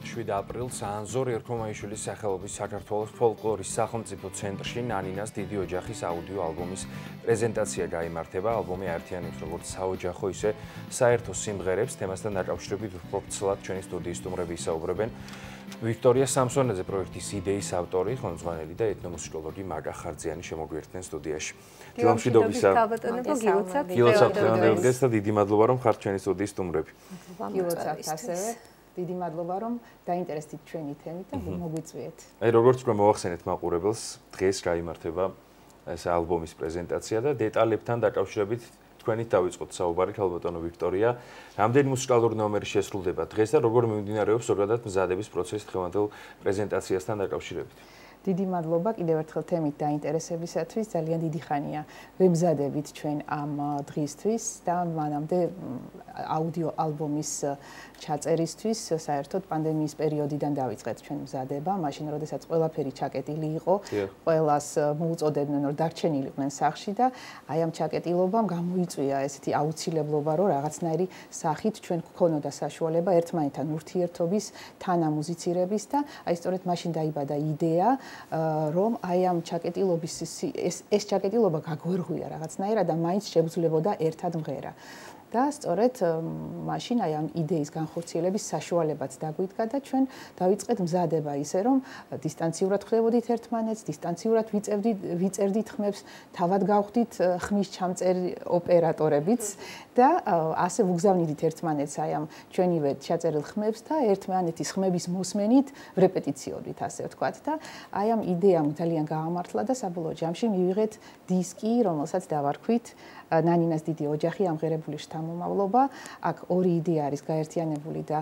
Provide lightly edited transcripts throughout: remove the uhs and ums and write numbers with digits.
7 აპრილს ანზორ ერქომაიშვილის სახელობის საქართველოს ფოლკლორის სახელმწიფო ცენტრში ნანინას დიდი ოჯახის აუდიო ალბომის პრეზენტაცია გაიმართება. ალბომი აერთიანებს როგორც საოჯახო, ისე საერთო სიმღერებს. თემასთან დაკავშირებით უფრო ვრცლად ჩვენი სტუდიის სტუმრები ისაუბრებენ. ვიქტორია სამსონაძე პროექტის იდეის ავტორი, ხელმძღვანელი და ეთნომუსიკოლოგი მაგა ხარძიანი შემოგვიერთდნენ სტუდიაში. დილამშვიდობისა. გილოცავთ დღეს და დიდი მადლობა რომ ხართ ჩვენი სტუდიის სტუმრები. გილოცავთ ასევე. დიდი მადლობა რომ დაინტერესდით ჩვენი თემით და მოგვიწვიეთ. აი როგორც უკვე მოახსენეთ მაყურებელს, დღეს გაიმართება ეს ალბომის პრეზენტაცია და დეტალებთან დაკავშირებით თქვენით დავიწყოთ საუბარი, ხალბატონო ვიქტორია. რამდენი მუსიკალური ნომერი შესრულდება დღეს და როგორ მიმდინარეობს ზოგადად მზადების პროცესი დღევანდელ პრეზენტაციასთან დაკავშირებით? დიდი მადლობა კიდევ ერთხელ თემით დაინტერესებისათვის. ძალიან დიდი ხანია ვემზადებით ჩვენ ამ დღისთვის და მანამდე აუდიო ალბომის ჩაწერისთვის საერთოდ პანდემიის პერიოდიდან დავიწყეთ ჩვენ მზადება, მაშინ როდესაც ყველაფერი ჩაკეტილი იყო, ყველას მოუწოდებდნენ რომ დარჩენილიყვნენ სახლში და აი ამ ჩაკეტილობამ გამოიწვია ესეთი აუცილებლობა, რომ რაღაცნაირი სახით ჩვენ გქონოდა საშუალება ერთმანეთთან ურთიერთობის, თანამუზიცირების და აი სწორედ მაშინ დაიბადა იდეა რომ აი ამ ჩაკეტილობის ეს ჩაკეტილობა გაგვერღვია რაღაცნაირად და მაინც შეგვძლებოდა ერთად მღერა. და სწორედ მაშინ აი ამ იდეის განხორციელების საშუალებაც დაგვიდგა და ჩვენ დავიწყეთ მზადება ისე რომ დისტანციურად ხვდებოდით ერთმანეთს, დისტანციურად ვიწერდით ხმებს, თავად გავხდით ხმის ჩამწერი ოპერატორებიც და ასე ვუგზავნიდით ერთმანეთს აი ამ ჩვენივე ჩაწერილ ხმებს და ერთმანეთის ხმების მოსმენით ვრეპეტიციოდით ასე ვთქვათ და აი ამ იდეამ ძალიან გაამართლა და საბოლოო ჯამში მივიღეთ დისკი, რომელსაც დავარქვით ნანინას დიდი ოჯახი ამღერებული შთამომავლობა. აქ ორი იდეა არის გაერთიანებული და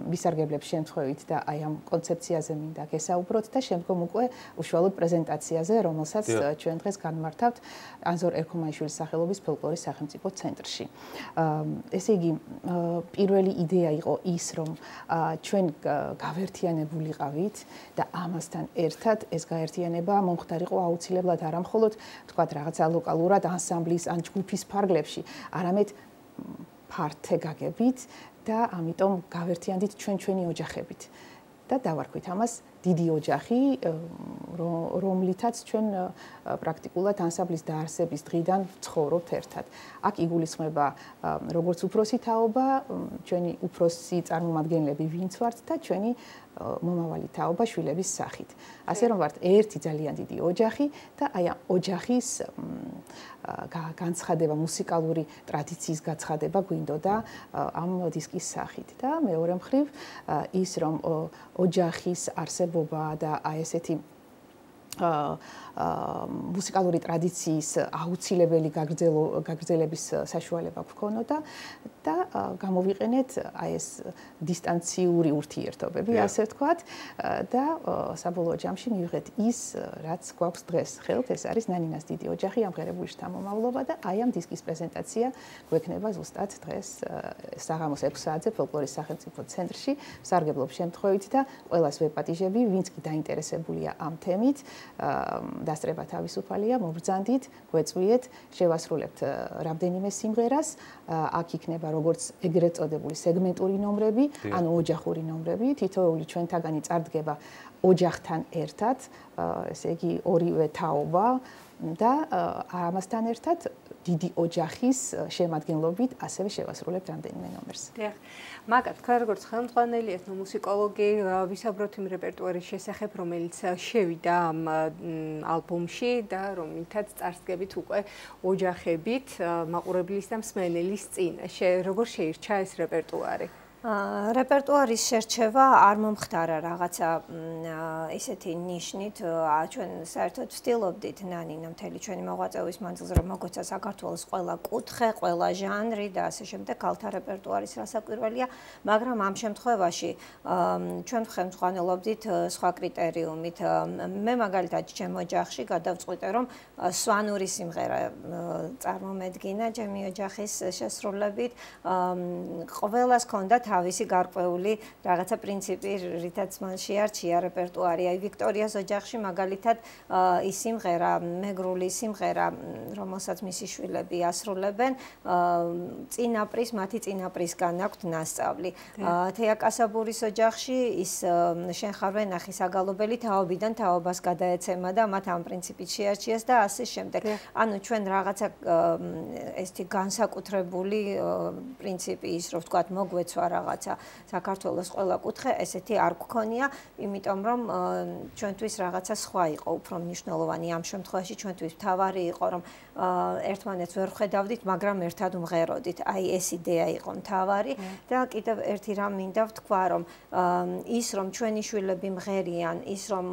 ვისარგებლებ შემთხვევით და აი ამ კონცეფციაზე მინდა გესაუბროთ და შემდგომ უკვე უშუალოდ პრეზენტაციაზე, რომელსაც ჩვენ დღეს განმართავთ ანზორ ერქომაიშვილის სახელობის ფოლკლორის სახელმწიფო ცენტრში. ესე იგი, პირველი იდეა იყო ის, რომ ჩვენ გავერთიანებულიყავით და ამასთან ერთად ეს გაერთიანება მომხდარიყო აუცილებლად არა მხოლოდ თქვათ რაღაცა ლოკალურად ანსამბლის ან ჯგუფის ფარგლებში, არამედ ფართე გაგებით და ამიტომ გავერთიანდით ჩვენი ოჯახებით. და დავარქვით ამას დიდი ოჯახი, რომლითაც ჩვენ პრაქტიკულად ანსამბლის დაარსების დღიდან ვცხოვრობთ ერთად. აქ იგულისხმება როგორც უფროსი თაობა, ჩვენი უფროსი წარმომადგენლები ვინც ვართ და ჩვენი მომავალი თაობა შვილების სახით. ასე რომ ვართ ერთი ძალიან დიდი ოჯახი და აი ამ ოჯახის განცხადება, მუსიკალური ტრადიციის გაცხადება გვინდოდა ამ დისკის სახით და მეორე მხრივ ის რომ ოჯახის არსებობა და აი ესეთი მუსიკალური ტრადიციის აუცილებელი გაგრძელების საშუალება გვქონოდა და გამოვიყენეთ აი ეს დისტანციური ურთიერთობები, ასე ვთქვათ და საბოლოო ჯამში მივიღეთ ის, რაც გვაქვს დღეს ხელთ, ეს არის ნანინას დიდი ოჯახი ამღერებული შთამომავლობა და აი ამ დისკის პრეზენტაცია გვექნება ზუსტად დღეს საღამოს 6 საათზე ფოლკლორის სახელმწიფო ცენტრში. ვსარგებლობ შემთხვევით და ყველას ვეპატიჟები, ვინც კი დაინტერესებულია ამ თემით, დასწრება თავისუფალია, მობრძანდით, გვეწვიეთ, შევასრულებთ რამდენიმე სიმღერას, აქ იქნება როგორც ეგრეთ წოდებული სეგმენტური ნომრები, ანუ ოჯახური ნომრები, თითოეული ჩვენთაგანი წარდგება ოჯახთან ერთად, ესე იგი ორივე თაობა და ამასთან ერთად დიდი ოჯახის შემადგენლობით ასევე შევასრულებთ რამდენიმე ნომერს. დიახ. მაგათ, თქვენ როგორც ხელმძღვანელი ეთნომუსიკოლოგი ვისაუბროთ იმ რეპერტუარის შესახებ, რომელიც შევიდა ამ ალბომში და რომლითაც წარსდგებით უკვე ოჯახებით მაყურებლის და მსმენელის წინაშე. როგორ შეირჩა ეს რეპერტუარი? რეპერტუარის შერჩევა არ მომხდარა რაღაცა ისეთი ნიშნით, ჩვენ საერთოდ ვცდილობდით ნანინა მთელი ჩვენი მოღვაწეობის მანძილზე რომ მოგვეცა საქართველოს ყველა კუთხე, ყველა ჟანრი და ასე შემდეგ ქალთა რეპერტუარის რასაკვირველია, მაგრამ ამ შემთხვევაში ჩვენ ხელმძღვანელობდით სხვა კრიტერიუმით. მე მაგალითად ჩემ ოჯახში გადავწყვიტე რომ სვანური სიმღერა წარმომედგინა ჩემი ოჯახის შესრულებით, ყველას ჰქონდა თავისი გარკვეული რაღაცა პრინციპი, რითაც მან შეარჩია რეპერტუარი. აი ვიქტორიას ოჯახში მაგალითად ის სიმღერა, მეგრული სიმღერა, რომელსაც მისი შვილები ასრულებენ, მათი წინაპრისგან აქვთ ნასწავლი. თეა კასაბურის ოჯახში ის შენ ხარ ვენახი საგალობელი თაობიდან თაობას გადაეცემა და მათ ამ პრინციპით შეარჩიეს და ასე შემდეგ. ანუ ჩვენ რაღაცა ესეთი განსაკუთრებული პრინციპი ის რომ ვთქვათ მოგვეცვა რაღაცა საქართველოს ყველა კუთხე ესეთი არ გქონია, იმიტომ რომ ჩვენთვის რაღაცა სხვა იყო უფრო მნიშვნელოვანი ამ შემთხვევაში ჩვენთვის მთავარი იყო რომ ერთმანეთს ვერ ხედავდით, მაგრამ ერთად ვმღეროდით. აი ეს იდეა იყო მთავარი და კიდევ ერთი რამ მინდა ვთქვა რომ ის რომ ჩვენი შვილები მღერიან, ის რომ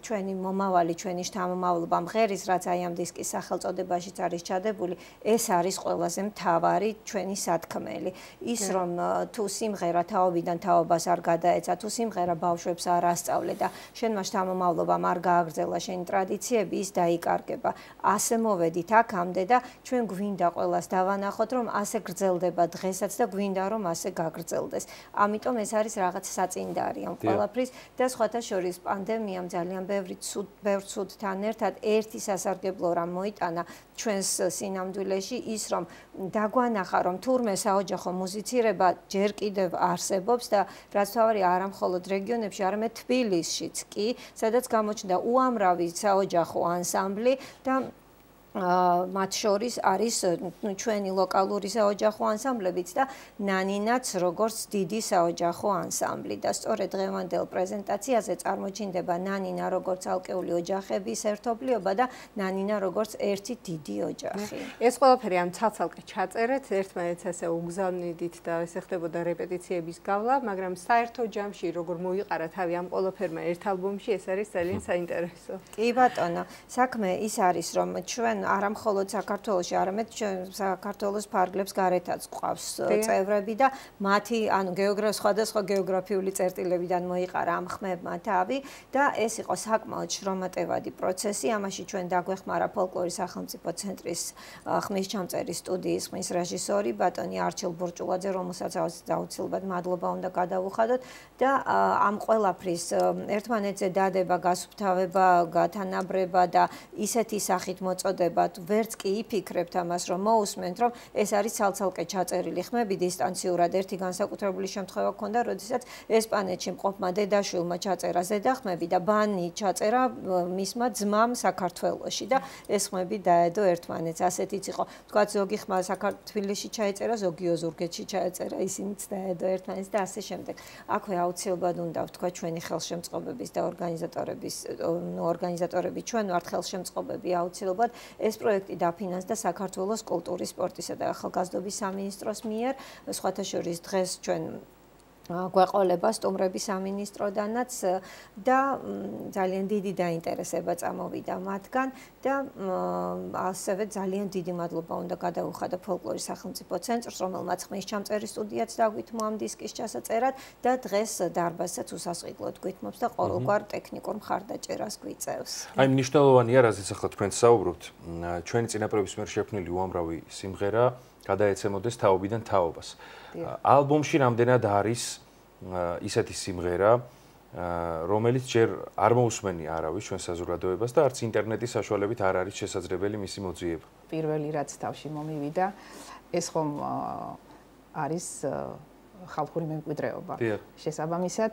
ჩვენი მომავალი, ჩვენი შთამომავლობა მღერის, რაც აი ამ დისკის სახელწოდებაშიც არის ჩადებული, ეს არის ყველაზე მთავარი ჩვენი სათქმელი. ის რომ თუ სიმღერა თაობიდან თაობას არ გადაეცა, თუ სიმღერა ბავშვებს არ ასწავლე და შენმა შთამომავლობამ არ გააგრძელა შენი ტრადიციები, ის დაიკარგება. ასე მოვედით აქამდე და ჩვენ გვინდა ყველას დავანახოთ, რომ ასე გრძელდება დღესაც და გვინდა რომ ასე გაგრძელდეს. ამიტომ ეს არის რაღაც საწინდარი ამ ყველაფრის და სხვათა შორის პანდემიამ ძალიან ბევრ ცუდთან ერთად ერთი სასარგებლო რამ მოიტანა ჩვენს სინამდვილეში ის რომ დაგვანახა რომ თურმე საოჯახო მუსიცირება ჯერ კიდევ არსებობს და რაც თავარი არა მხოლოდ რეგიონებში, არამედ თბილისშიც კი, სადაც გამოჩნდა უამრავი საოჯახო ანსამბლი და მათ შორის არის ჩვენი ლოკალური საოჯახო ანსამბლებიც და ნანინაც როგორც დიდი საოჯახო ანსამბლი და სწორედ დღევანდელ პრეზენტაციაზე წარმოჩინდება ნანინა როგორც ალკეული ოჯახების ერთობლიობა და ნანინა როგორც ერთი დიდი ოჯახი. ეს ყველაფერი ამ ცალ-ცალკე ჩაწერეთ, ერთმანეთს ასე უგზავნიდით და ესე ხდებოდა რეპეტიციების გავლა, მაგრამ საერთო ჯამში როგორ მოიყარა თავი ამ ყველაფერმა ერთ ალბომში, ეს არის ძალიან საინტერესო. კი ბატონო, საქმე ის არის რომ ჩვენ არა მხოლოდ საქართველოში, არამედ საქართველოს ფარგლებს გარეთაც ყავს წევრები და მათი, ანუ სხვადასხვა გეოგრაფიული წერტილებიდან მოიყარა ამ ხმებმა თავი და ეს იყო საკმაოდ შრომატევადი პროცესი. ამაში ჩვენ დაგვეხმარა ფოლკლორის სახელმწიფო ცენტრის ხმის ჩამწერის სტუდიის ხმის რეჟისორი ბატონი არჩილ ბურჭულაძე, რომელსაც აუცილებლად მადლობა უნდა გადავუხადოთ და ამ ყველაფრის ერთმანეთზე დადება, გასუფთავება, გათანაბრება და ისეთი სახით მოწოდება ვერც კი იფიქრებთ ამას რომ მოусმენთ რომ ეს არის ცალ-ცალკე ჩაწერილი ხმები დისტანციურად. ერთი განსაკუთრებული შემთხვევა ჰქონდა, როდესაც ესპანეთში მყოფმა დედაშვილმა ჩაწერა ზედახმები და ბანი ჩაწერა მისმა ძმამ საქართველოში და ეს ხმები დაედო ერთმანეთს. ასეთიც იყო. თქვათ ზოგი ხმა საქართველოში ჩაეწერა, ზოგი ოზურგეთში ჩაეწერა, ისინიც დაედო ერთმანეთს და ასე შემდეგ. აქვე აუცილებლად უნდა ვთქვა ჩვენი ხელშემწყობების და ორგანიზატორები ჩვენ ვართ ხელშემწყობები აუცილებლად ეს პროექტი დაფინანსდა საქართველოს კულტურის, სპორტისა და ახალგაზრდობის სამინისტროს მიერ. სხვათა შორის დღეს ჩვენ გვეყოლება სტუმრების სამინისტროდანაც და ძალიან დიდი დაინტერესება წამოვიდა მათგან და ასევე ძალიან დიდი მადლობა უნდა გადავუხადო ფოლკლორის სახელმწიფო ცენტრს, რომელმაც ხმის ჩამწერის სტუდიაც დაგვითმო ამ დისკის ჩასაწერად და დღეს დარბაზსაც უსასყიდლოდ გვითმობს და ყოველგვარ ტექნიკურ მხარდაჭერას გვიწევს. აი მნიშვნელოვანია, რაზეც ახლა თქვენ საუბრობთ, ჩვენი წინაპრების მიერ შექმნილი უამრავი სიმღერა გადაეცემოდეს თაობიდან თაობას. ალბომში რამდენად არის ისეთი სიმღერა, რომელიც ჯერ არ მოусმენი არავის ჩვენ საზოგადოებას და არც ინტერნეტის საშუალებით არ არის შესაძლებელი მისი მოძიება. პირველი რაც თავში მომივიდა, ეს ხომ არის ხალხური მემკვიდრეობა. შესაბამისად,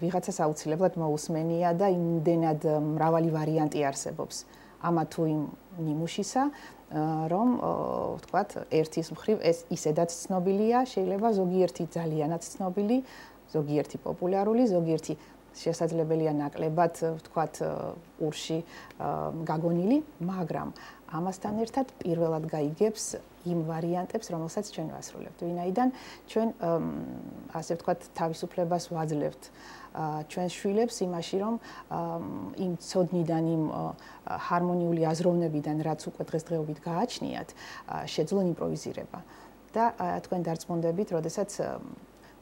ვიღაცას აუცილებლად მოусმენია და იმდენად მრავალი ვარიანტი არსებობს. ამა თუ იმ ნიმუშისა, რომ ვთქვათ, ერთის მხრივ ეს ისედაც ცნობილია, შეიძლება ზოგიერთი ძალიანაც ცნობილი, ზოგიერთი პოპულარული, ზოგიერთი შესაძლებელია ნაკლებად, ვთქვათ, ურში გაგონილი, მაგრამ ამასთან ერთად პირველად გაიგებს იმ ვარიანტებს, რომელსაც ჩვენ ვასრულებთ. ვინაიდან ჩვენ ასე ვთქვათ, თავისუფლებას ვაძლევთ ჩვენს შვილებს იმაში, რომ იმ ცოდნიდან, იმ ჰარმონიული აზროვნებიდან, რაც უკვე დღესდღეობით გააჩნიათ, შეძლონ იმპროვიზირება. და თქვენ დარწმუნდებით, როდესაც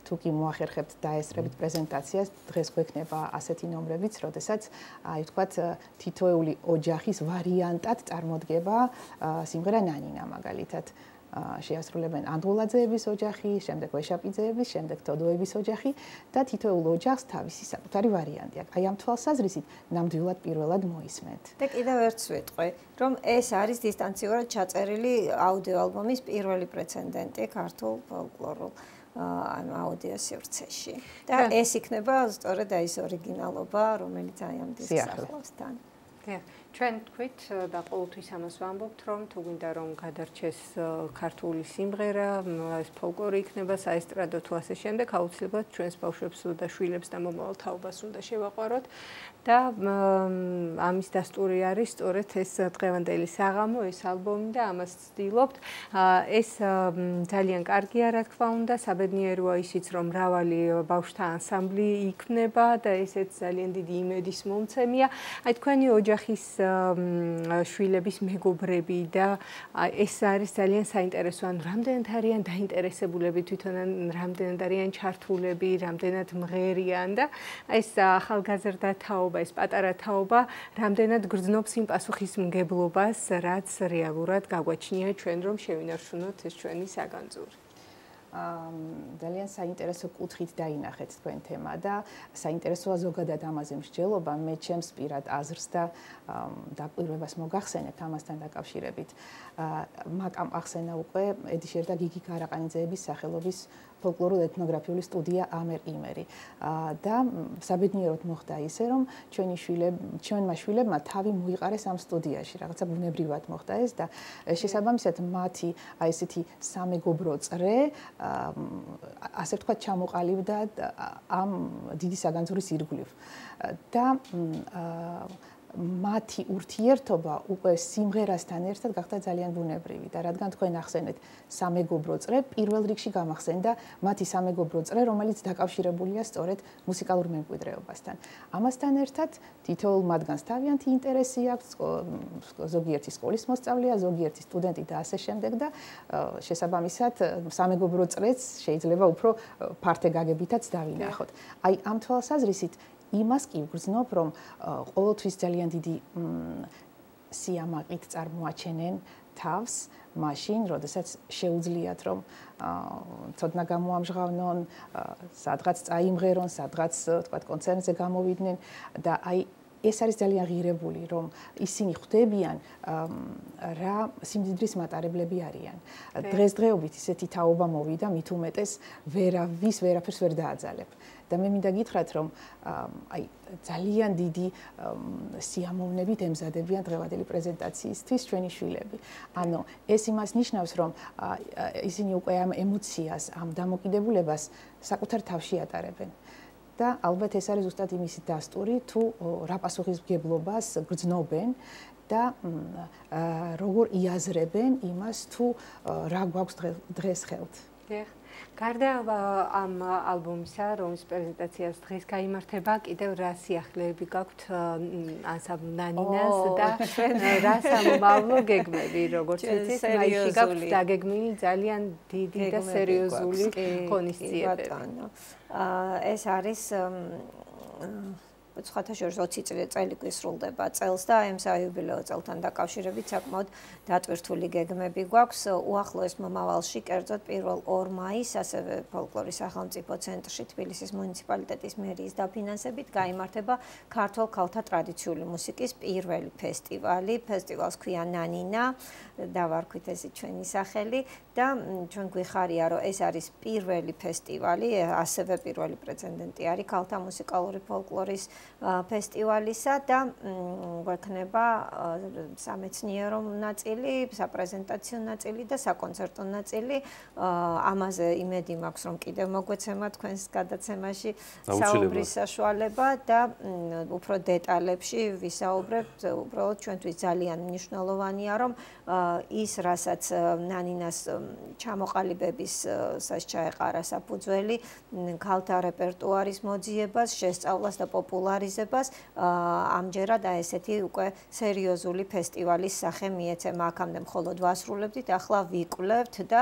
თუ კი მოახერხებთ დაესწრებით პრეზენტაციას, დღეს გვექნება ასეთი ნომრებიც, როდესაც აი ვთქვათ, თითოეული ოჯახის ვარიანტად წარმოდგება სიმღერა ნანინა მაგალითად. შეასრულებენ ანდღულაძეების ოჯახი, შემდეგ ვეშაპიძეების, შემდეგ თოდოების ოჯახი და თითოეულ ოჯახს თავისი საკუთარი ვარიანტი აქვს. აი ამ თვალსაზრისით ნამდვილად პირველად მოისმენთ. და კიდევ ერთს ვიტყვი, რომ ეს არის დისტანციურად ჩაწერილი აუდიო ალბომის პირველი პრეცედენტი ქართულ ფოლკლორულ აუდიო სივრცეში. და ეს იქნება სწორედ ის ორიგინალობა, რომელიც აი ამ დისკს ახლავს თან. ჩვენ თქვით და ყოველთვის ამას ვამბობთ, რომ თუ გვინდა რომ გადარჩეს ქართული სიმღერა, ეს ფოლკლორი იქნება საესტრადო თუ ასე შემდეგ, აუცილებლად ჩვენს ბავშვებს და შვილებს და მომავალ თაობას უნდა შევაყვაროთ და ამის დასტური არის სწორედ ეს დღევანდელი საღამო, ეს ალბომი და ამას ვცდილობთ. ეს ძალიან კარგია, რა თქმა უნდა, საბედნიეროა ისიც, რომ მრავალი ბავშვთა ანსამბლი იქნება და ესეც ძალიან დიდი იმედის მომცემია. აი თქვენი ოჯახის შვილების მეგობრები და ეს არის ძალიან საინტერესო, ან რამდენად არიან დაინტერესებულები თვითონ, რამდენად არიან ჩართულები, რამდენად მღერიან და ეს ახალგაზრდა თაობა, ეს პატარა თაობა რამდენად გრძნობს იმ პასუხისმგებლობას, რაც რეალურად გაგვაჩნია ჩვენ, რომ შევინარჩუნოთ ეს ჩვენი საგანძური. ძალიან საინტერესო კუთხით დაინახეთ თქვენ თემა და საინტერესოა ზოგადად ამაზე მსჯელობა, მე ჩემს პირად აზრს და დაკვირვებას მოგახსენებთ ამასთან დაკავშირებით. მაკამ ახსენა უკვე ედიშერ და გიგი გარაყანიძეების სახელობის ფოლკლორულ ეთნოგრაფიული სტუდია ამერ იმერი და საბედნიეროდ მოხდა ისე, რომ ჩვენმა შვილებმა თავი მოიყარეს ამ სტუდიაში, რაღაცა ბუნებრივად მოხდა ეს და შესაბამისად მათი აი ესეთი სამეგობრო წრე ასე ვთქვათ ჩამოყალიბდა ამ დიდი საგანძურის ირგვლივ და მათი ურთიერთობა უკვე სიმღერასთან ერთად გახდა ძალიან ბუნებრივი და რადგან თქვენ ახსენეთ სამეგობრო წრე, პირველ რიგში გამახსენდა მათი სამეგობრო წრე, რომელიც დაკავშირებულია სწორედ მუსიკალურ მემკვიდრეობასთან. ამასთან ერთად თითოეულ მათგანს თავიანთი ინტერესი აქვს, ზოგიერთი სკოლის მოსწავლეა, ზოგიერთი სტუდენტი და ასე შემდეგ და შესაბამისად სამეგობრო წრეც შეიძლება უფრო ფართე გაგებითაც დავინახოთ. აი ამ თვალსაზრისით იმას კი ვგრძნობ, რომ ყოველთვის ძალიან დიდი სიამაყით წარმოაჩენენ თავს, მაშინ, როდესაც შეუძლიათ, რომ ცოდნა გამოამჟღავნონ, სადღაც წაიმღერონ, სადღაც, თქვათ, კონცერტზე გამოვიდნენ და აი ეს არის ძალიან ღირებული, რომ ისინი ხვდებიან რა სიმდიდრის მატარებლები არიან. დღესდღეობით ისეთი თაობა მოვიდა, მით უმეტეს ვერაფერს ვერ დააძალებ. და მე მინდა გითხრათ, რომ აი ძალიან დიდი სიამოვნებით ემზადებიან დღევანდელი პრეზენტაციისთვის ჩვენი შვილები. ანუ ეს იმას ნიშნავს, რომ ისინი უკვე ამ ემოციას, ამ დამოკიდებულებას საკუთარ თავში ატარებენ. და ალბათ ეს არის ზუსტად იმისი დასტური, თუ რა პასუხისმგებლობას გრძნობენ და როგორ იაზრებენ იმას, თუ რა გვაქვს დღეს ხელთ. გარდა ამ ალბომისა, რომლის პრეზენტაციას დღეს გაიმართება, კიდევ რა სიახლეები გაქვთ ანსამბლ ნანინას და რა სამომავლო გეგმები, როგორც ვიცით, მაისში გაქვთ დაგეგმილი ძალიან დიდი და სერიოზული ღონისძიებები. ეს არის სხვათა შორის 20 წელი გვისრულდება წელს და ამ საიუბილეო წელთან დაკავშირებით საკმაოდ დატვირთული გეგმები გვაქვს. უახლოეს მომავალში, კერძოდ 1 მაისს, ასევე ფოლკლორის სახელმწიფო ცენტრში თბილისის მუნიციპალიტეტის მერიის დაფინანსებით გაიმართება ქართულ ქალთა ტრადიციული მუსიკის პირველი ფესტივალი. ფესტივალს ქვია ნანინა, დავარქვით ესე ჩვენი სახელი და ჩვენ გვიხარია, რომ ეს არის პირველი ფესტივალი, ასევე პირველი პრეცედენტი არის ქალთა მუსიკალური ფოლკლორის ფესტივალისა და გვექნება სამეცნიერო ნაწილი, საპრეზენტაციო ნაწილი და საკონცერტო ნაწილი. ამაზე იმედი მაქვს, რომ კიდევ მოგვეცემა თქვენს გადაცემაში საუბრის საშუალება და უფრო დეტალებში ვისაუბრებთ. უბრალოდ ჩვენთვის ძალიან მნიშვნელოვანია, რომ ის, რასაც ნანინას ჩამოყალიბების ჩაეყარა საფუძველი, ქალთა რეპერტუარის მოძიებას, შესწავლას და პოპულარიზებას, ამჯერად ესეთი უკვე სერიოზული ფესტივალის სახე მიეცემა. აქამდე მხოლოდ ვასრულებდით, ახლა ვიკვლევთ და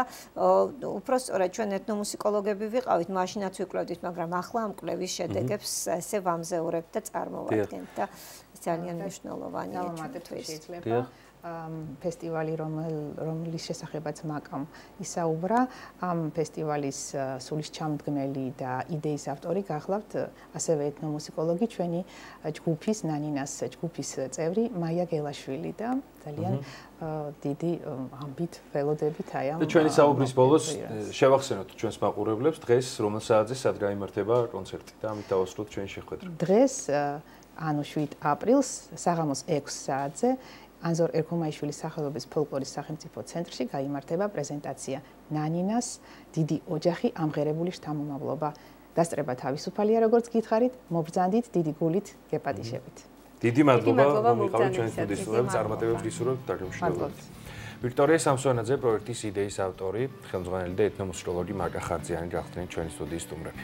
უფრო სწორედ ჩვენ ეთნომუსიკოლოგები ვიყავით, მაშინაც ვიკვლევდით, მაგრამ ახლა ამ კვლევის შედეგებს ესე ვამზეურებთ და წარმოვადგენთ და ძალიან მნიშვნელოვანია ჩვენთვის. ფესტივალი, რომლის შესახებაც მაკამ ისაუბრა, ამ ფესტივალის სულისჩამდგმელი და იდეის ავტორი გახლავთ ასევე ეთნომუსიკოლოგი, ჩვენი ჯგუფის ნანინას ჯგუფის წევრი მაია გელაშვილი და ძალიან დიდი ამბით ველოდებით აი ამ ჩვენი საუბრის ბოლოს შევახსენოთ ჩვენს მაყურებლებს დღეს რომელ საათზე სად გაიმართება კონცერტი და ამით დავასრულოთ ჩვენი შეხვედრა. დღეს ანუ 7 აპრილს საღამოს 6 საათზე ანზორ ერქომაიშვილის სახელობის ფოლკლორის სახელმწიფო ცენტრში გაიმართება პრეზენტაცია ნანინას დიდი ოჯახი ამღერებული შთამომავლობა. დასწრება თავისუფალია, როგორც გითხარით, მობრძანდით დიდი გულით გეპატიშებით. დიდი მადლობა, რომ იყავით ჩვენი სტუდიის სტუმრები, წარმატებებს გისურვებთ დაგემშვიდობებით. ვიქტორია სამსონაძე პროექტის იდეის ავტორი, ხელმძღვანელი და ეთნომუსიკოლოგი მარკა ხარძიანი გახდნენ ჩვენი სტუდიის სტუმრები.